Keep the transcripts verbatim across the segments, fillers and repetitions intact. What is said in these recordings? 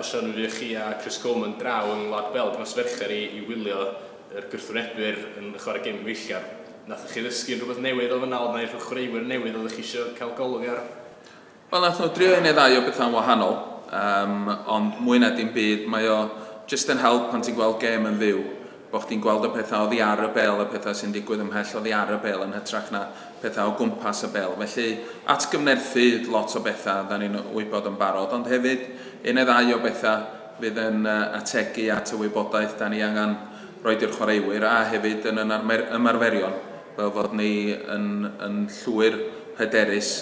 Osian, mi chi a Chris Coleman draw yng Ngwlad Belg nos Fercher i, i wylio yr gwrthwynebwyr yn chwarae gêm gyfeillgar. Nathoch chi ddysgu rhywbeth newydd o fyna, oedd 'na unrhyw chwaraewyr newydd oeddech chi eisiau cael golwg ar? Wel, nath nhw drio un neu ddau o bethau'n wahanol, um, ond mwy na dim byd, mae o jyst yn help pan ti'n gweld gêm yn fyw, bod chdi'n gweld y pethau oddi ar y bêl, y pethau sy'n digwydd ymhell oddi ar y bêl yn hytrach na pethau o gwmpas y bêl. Felly, atgyfnerthu lot o bethau, da ni'n wybod yn barod, ond hefyd un neu ddau o bethau fydd yn ategu at y wybodaeth da ni angen roed i'r chwaraewyr a hefyd yn yn ymarferion, fel fod ni yn, yn llwyr hyderus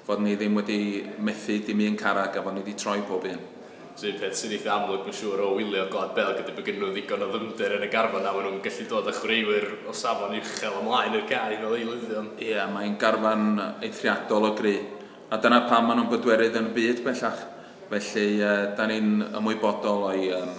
fod ni ddim wedi methu dim un carag a fod ni wedi troi pob un. So un peth sy'n eitha amlwg, mae'n siŵr, o wylio Gwlad Belg ydy bod gen nhw ddigon o ddyfnder yn y garfan a maen nhw'n gallu dod â chwaraewyr o safon uchel ymlaen i'r cae fel eilyddion. Ie, yeah, mae'n garfan eithriadol o gry. A dyna pam maen nhw'n bedwerydd yn y byd bellach. Felly, uh, da ni'n ymwybodol o'i, um,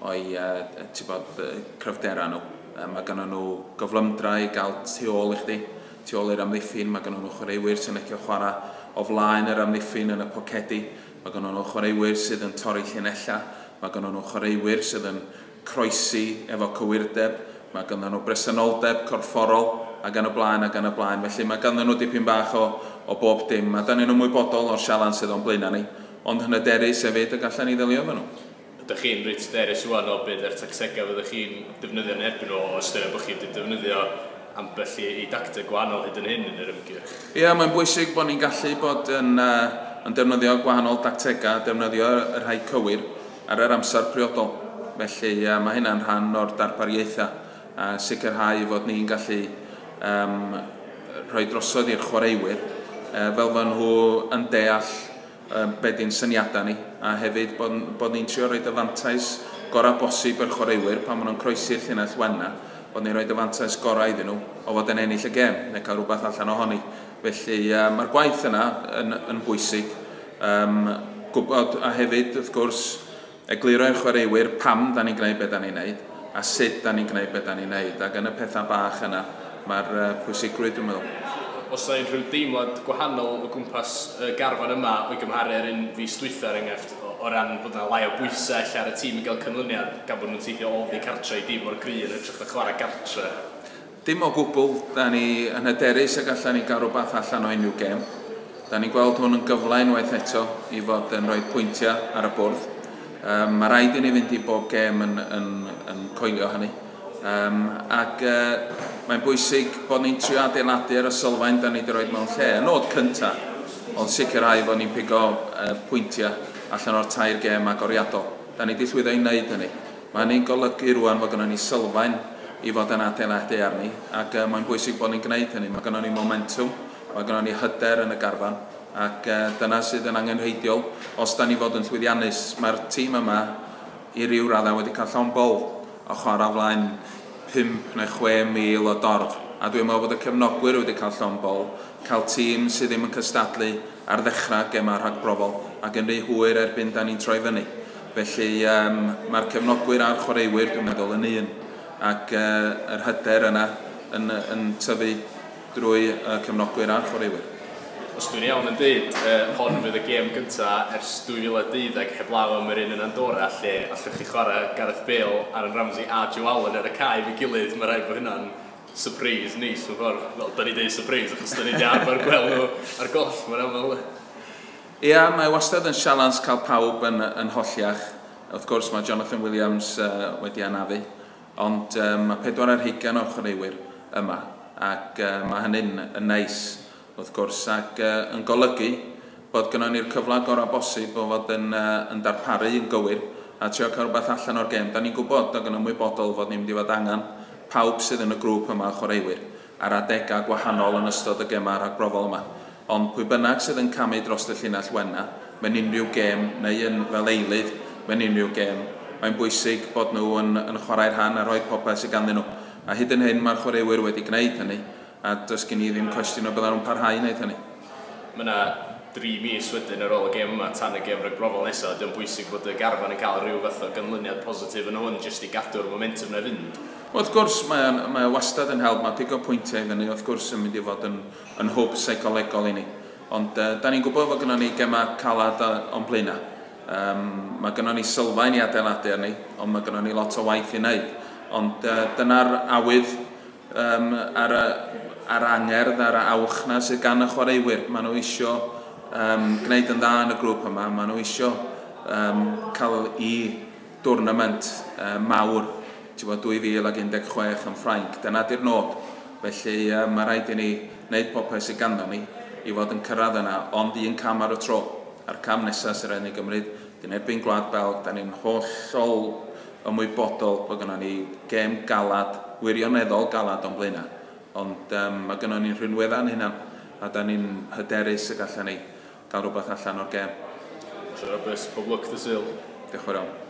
o'i uh, bod, cryfdera nhw. Uh, mae gynnon nhw gyflymdra i gael tu ôl i chdi, tu ôl i'r amddiffyn. Mae gynnon nhw chwaraewyr sy'n licio chwarae o flaen yr amddiffyn yn y pocedi. Mae gynnon nhw chwaraewyr sydd yn torri llinellau. Mae gynnon nhw chwaraewyr sydd yn croesi efo cywirdeb. Mae gynnon nhw bresenoldeb corfforol ac yn y blaen ac yn y blaen. Felly mae ganddyn nhw dipyn bach o, o bob dim. A da ni'n ymwybodol o'r sialens sydd o'n blaenau ni, ond yn hyderus hefyd y gallan ni ddelio efo nhw. Ydych chi'n reit hyderus rŵan o beth yw'r tactegau fyddwch chi'n defnyddio yn erbyn nhw, o ystyried bod chi wedi defnyddio ambell i, i dacteg gwahanol hyd yn hyn yn yr ymgyrch? Ie, yeah, mae'n bwysig bod ni'n gallu bod yn, uh, yn defnyddio gwahanol dactegau, defnyddio y rhai cywir ar yr amser priodol. Felly uh, mae hynna'n rhan o'r darpariaethau, a uh, sicrhau fod ni'n gallu um, rhoi drosodd i'r chwaraewyr, uh, fel fod nhw yn deall uh, be di'n syniadau ni, a hefyd bod, bod ni'n trio rhoi y fantais gorau bosib i'r chwaraewyr pan maen nhw'n croesi'r llinell wenna, bod ni'n rhoi y fantais gorau iddyn nhw o fod yn ennill y gêm neu cael rhywbeth allan ohoni. Felly uh, mae'r gwaith yna yn, yn bwysig. Um, gwybod, a hefyd, wrth gwrs, egluro i'r chwaraewyr pam da ni'n gwneud beth da ni'n gwneud a sut da ni'n gwneud beth da ni'n gwneud. Ac yn y pethau bach yna, mae'r uh, pwysigrwydd, dwi'n meddwl. Oes 'na unrhyw deimlad gwahanol o gwmpas y garfan yma o'i gymharu ar un fis dwytha, er enghraifft, o, o ran bod yna lai o bwysau ella ar y tîm i gael canlyniad gan bod nhw'n teithio oddi cartre i dîm mor gry yn hytrach na chwarae gartre? Dim o gwbl, da ni yn hyderus y gallan ni gael rhywbeth allan o unrhyw gêm. Da ni'n gweld hwn yn gyfle unwaith eto i fod yn rhoi pwyntiau ar y bwrdd. Um, mae rhaid i ni fynd i bob gêm yn, yn, yn coelio hynny. Um, ac uh, mae'n bwysig bod ni'n trio adeiladu ar y sylfaen da ni wedi rhoi mewn lle. Y nod cyntaf oedd sicrhau fod ni'n pigo uh, pwyntiau allan o'r tair gêm agoriadol. Da ni wedi llwyddo i wneud hynny. Mae hynny'n golygu rwan fod gynnon ni sylfaen i fod yn adeiladu arni, ac uh, mae'n bwysig bod ni'n gwneud hynny. Mae gynnon ni momentum, mae gynnon ni hyder yn y garfan, ac uh, dyna sydd yn angenrheidiol os da ni fod yn llwyddiannus. Mae'r tîm yma i ryw raddau wedi cael llond bol o chwarae flaen pump neu chwe mil o dorf. A dwi'n meddwl bod y cefnogwyr wedi cael llond bol, cael tîm sydd ddim yn cystadlu ar ddechrau gemau rhagbrofol ac yn rhy hwyr erbyn da ni'n troi fyny. Felly um, mae'r cefnogwyr a'r chwaraewyr, dwi'n meddwl, yn un, ac uh, yr hyder yna yn, yn tyfu drwy uh, cefnogwyr a'r chwaraewyr. Os dwi'n iawn yn dweud, uh, hon fydd y gêm gyntaf ers dwy fil a deuddeg heblaw am yr un yn Andorra, lle allwch chi chwarae Gareth Bale, Aaron Ramsey a Joe Allen ar y cae efo'i gilydd. Mae rhaid bod hynna'n surprise neis mewn ffordd. Wel, da ni deud surprise achos da ni wedi arfer gweld nhw ar goll, mae'n aml. Ia, mae wastad yn sialens cael pawb yn, yn holliach. Wrth gwrs mae Jonathan Williams uh, wedi anafu, ond um, mae pedwar ar hugain o'r chwaraewyr yma, ac uh, mae hynny'n yn neis, wrth gwrs, ac uh, yn golygu bod gynnon ni'r cyfle gorau bosib o fod yn, uh, yn darparu yn gywir a trio cael rhywbeth allan o'r gêm. Da ni'n gwybod ac yn ymwybodol fod ni'n mynd i fod angen pawb sydd yn y grŵp yma o chwaraewyr ar adegau gwahanol yn ystod y gemau rhagbrofol yma. Ond pwy bynnag sydd yn camu dros y llinell wenna mewn unrhyw gêm neu yn fel eilydd mewn unrhyw gêm, mae'n bwysig bod nhw yn, yn chwarae'r rhan a rhoi popeth sydd ganddyn nhw. A hyd yn hyn mae'r chwaraewyr wedi gwneud hynny, a does gen i ddim cwestiwn o byddan nhw'n parhau i wneud hynny. Mae yna dri mis wedyn ar ôl y gêm yma tan y gêm ragbrofol nesaf. Ydy o'n bwysig bod y garfan yn cael rhyw fath o ganlyniad positif yn hwn jyst i gadw'r momentum na fynd? Wel, wrth gwrs, mae, mae wastad yn help, mae pigo pwyntiau i fyny, wrth gwrs, yn mynd i fod yn, yn hwb seicolegol i ni. Ond uh, da ni'n gwybod fod gynnon ni gemau calad o'n blaenau. Um, mae gynnon ni sylfaen i adeiladu arni, ond mae gynnon ni lot o waith i wneud. Ond uh, dyna'r awydd um, ar, ar angerdd, ar y awch na sydd gan y chwaraewyr. Maen nhw isio um, gwneud yn dda yn y grŵp yma, maen nhw isio um, cael i dwrnament uh, mawr dwy fil ac un deg chwech yn Ffrainc. Dyna di'r nod. Felly uh, mae rhaid i ni wneud popeth sydd ganddo ni i fod yn cyrraedd yna, ond un cam ar y tro. A'r cam nesaf sy'n rhaid ni gymryd, dyn erbyn Gwlad Belg, da ni'n hollol ymwybodol bod gynnon ni gêm galad, wirioneddol galad o'n blaenau. Ond um, mae gynnon ni'n rhinweddau'n hunan, a da ni'n hyderus y gallan ni gael rhywbeth allan o'r gêm. Roberts, pob lwc dy Sul. Diolch yn fawr iawn.